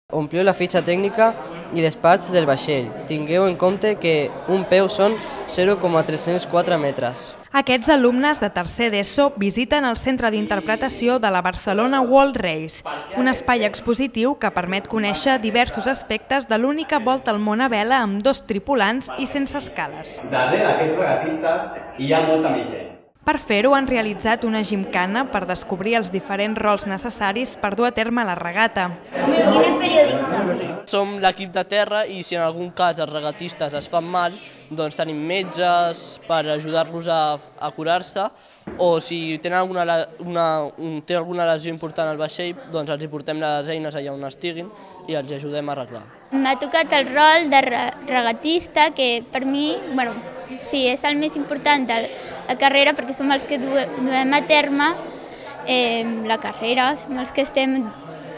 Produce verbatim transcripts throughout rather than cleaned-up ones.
Ompliu la fitxa tècnica i les parts del vaixell. Tingueu en compte que un peu són zero coma tres-cents quatre metres. Aquests alumnes de tercer d'ESO visiten el Centre d'Interpretació de la Barcelona World Race, un espai expositiu que permet conèixer diversos aspectes de l'única volta al món a vela amb dos tripulants i sense escales. Darrere aquests regatistes hi ha molta més gent. Per fer-ho han realitzat una gimcana per descobrir els diferents rols necessaris per dur a terme la regata. Som l'equip de terra i si en algun cas els regatistes es fan mal, doncs tenim metges per ajudar-los a, a curar-se, o si tenen alguna, una, un, té alguna lesió important al vaixell, doncs els hi portem les eines allà on estiguin i els ajudem a arreglar. M'ha tocat el rol de regatista, que per mi, bueno, sí, és el més important de la carrera perquè som els que duem a terme eh, la carrera, som els que estem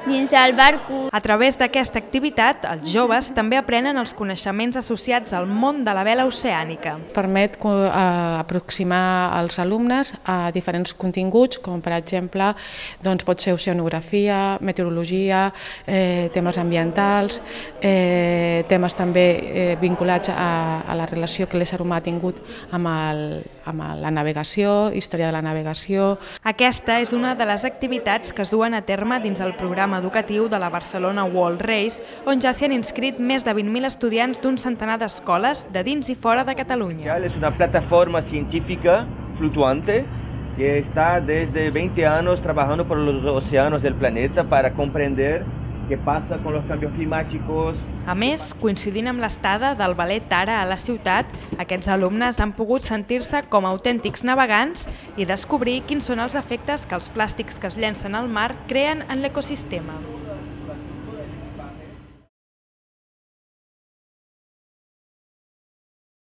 dins del barco. A través d'aquesta activitat, els joves també aprenen els coneixements associats al món de la vela oceànica. Permet aproximar els alumnes a diferents continguts, com per exemple doncs pot ser oceanografia, meteorologia, eh, temes ambientals, eh, temes també eh, vinculats a, a la relació que l'ésser humà ha tingut amb, el, amb la navegació, història de la navegació. Aquesta és una de les activitats que es duen a terme dins el programa educatiu de la Barcelona World Race, on ja s'hi han inscrit més de vint mil estudiants d'un centenar d'escoles de dins i fora de Catalunya. Es una plataforma científica flutuante que está desde veinte años trabajando por los océanos del planeta para comprender què passa amb els canvis climàtics. A més, coincidint amb l'estada del ballet Tara a la ciutat, aquests alumnes han pogut sentir-se com a autèntics navegants i descobrir quins són els efectes que els plàstics que es llencen al mar creen en l'ecosistema.